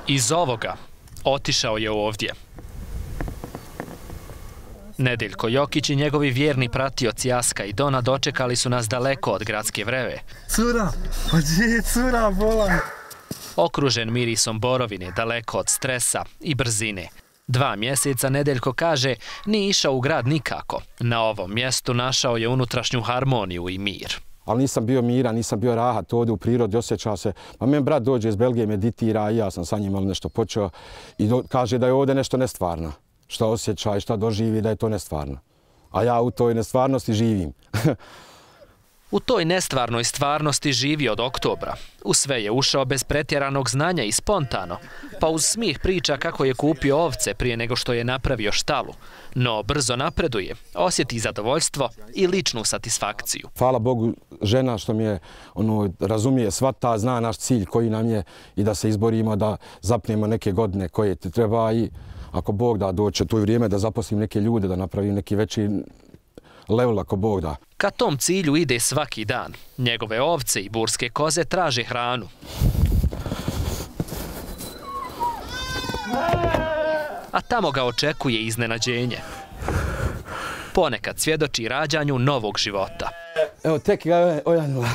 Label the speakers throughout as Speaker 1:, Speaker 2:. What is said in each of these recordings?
Speaker 1: Iz ovoga otišao je ovdje. Nedeljko Jokić i njegovi vjerni pratioci Aska i Dona dočekali su nas daleko od gradske vreve.
Speaker 2: Cura, pa gdje je cura, bolan?
Speaker 1: Okružen mirisom borovine, daleko od stresa i brzine. 2 mjeseca, Nedeljko kaže, nije išao u grad nikako. Na ovom mjestu našao je unutrašnju harmoniju i mir.
Speaker 2: Ali nisam bio miran, nisam bio rahat, ovdje u prirodi osjećao se. Pa meni brat dođe iz Belgije, meditira i ja sam sa njim nešto počeo i kaže da je ovdje nešto nestvarno. Šta osjeća i šta doživi, da je to nestvarno. A ja u toj nestvarnosti živim.
Speaker 1: U toj nestvarnoj stvarnosti živi od oktobra. U sve je ušao bez pretjeranog znanja i spontano, pa uz smijeh priča kako je kupio ovce prije nego što je napravio štalu. No brzo napreduje, osjeti zadovoljstvo i ličnu satisfakciju.
Speaker 2: Hvala Bogu, žena što mi je, razumije, shvata, zna naš cilj koji nam je i da se izborimo, da zapnemo neke godine koje ti treba i ako Bog da doće to vrijeme da zaposlim neke ljude, da napravim neki veći level ako Bog da.
Speaker 1: Ka tom cilju ide svaki dan. Njegove ovce i burske koze traže hranu. A tamo ga očekuje iznenađenje. Ponekad svjedoči rađanju novog života.
Speaker 2: Evo, tek ga je ojanila.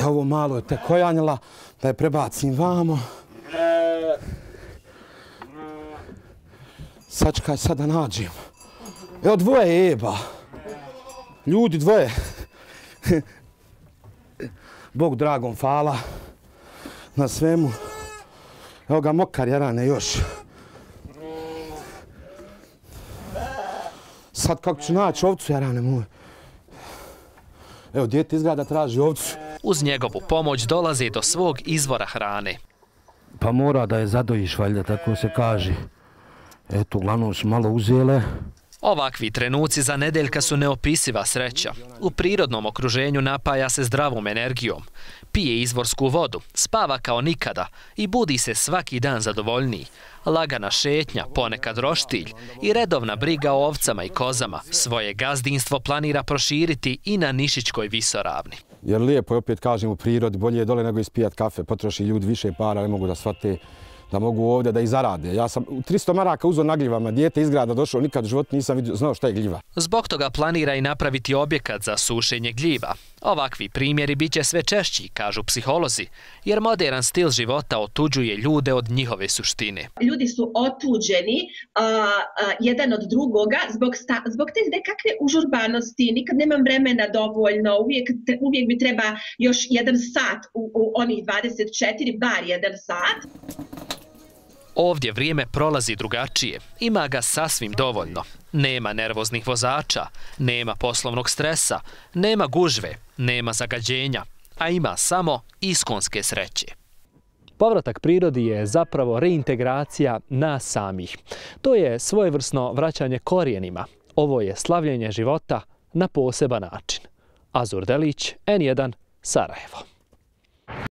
Speaker 2: Ovo malo je tek ojanila, da je prebacim vamo. Sačekaj, sad da nađem. Evo, 2 jeba. Ljudi, 2. Bog dragom, hvala na svemu. Evo ga mokar jarane još. Sad kako ću naći ovcu jarane moje. Evo, dijete izgleda traži ovcu.
Speaker 1: Uz njegovu pomoć dolazi do svog izvora hrane.
Speaker 2: Pa mora da je zadojiš, valjda, tako se kaže. Eto, uglavnom su malo uzele.
Speaker 1: Ovakvi trenuci za Nedeljka su neopisiva sreća. U prirodnom okruženju napaja se zdravom energijom, pije izvorsku vodu, spava kao nikada i budi se svaki dan zadovoljniji. Lagana šetnja, ponekad roštilj i redovna briga o ovcama i kozama svoje gazdinstvo planira proširiti i na Nišićkoj visoravni.
Speaker 2: Jer lijepo je, opet kažem, u prirodi, bolje je dole nego ispijat kafe, potroši ljudi više para, ne mogu da shvate da mogu ovdje da i zarade. Ja sam 300 maraka uzeo na gljivama, dijete iz grada došao, nikad u životu nisam znao šta je gljiva.
Speaker 1: Zbog toga planira i napraviti objekat za sušenje gljiva. Ovakvi primjeri bit će sve češći, kažu psiholozi, jer moderan stil života otuđuje ljude od njihove suštine.
Speaker 3: Ljudi su otuđeni jedan od drugoga zbog te nekakve užurbanosti, nikad nemam vremena dovoljno, uvijek mi treba još 1 sat u onih 24, bar 1 sat.
Speaker 1: Ovdje vrijeme prolazi drugačije, ima ga sasvim dovoljno. Nema nervoznih vozača, nema poslovnog stresa, nema gužve, nema zagađenja, a ima samo iskonske sreće. Povratak prirodi je zapravo reintegracija nas samih. To je svojevrsno vraćanje korijenima. Ovo je slavljenje života na poseban način. Azur Delić, N1, Sarajevo.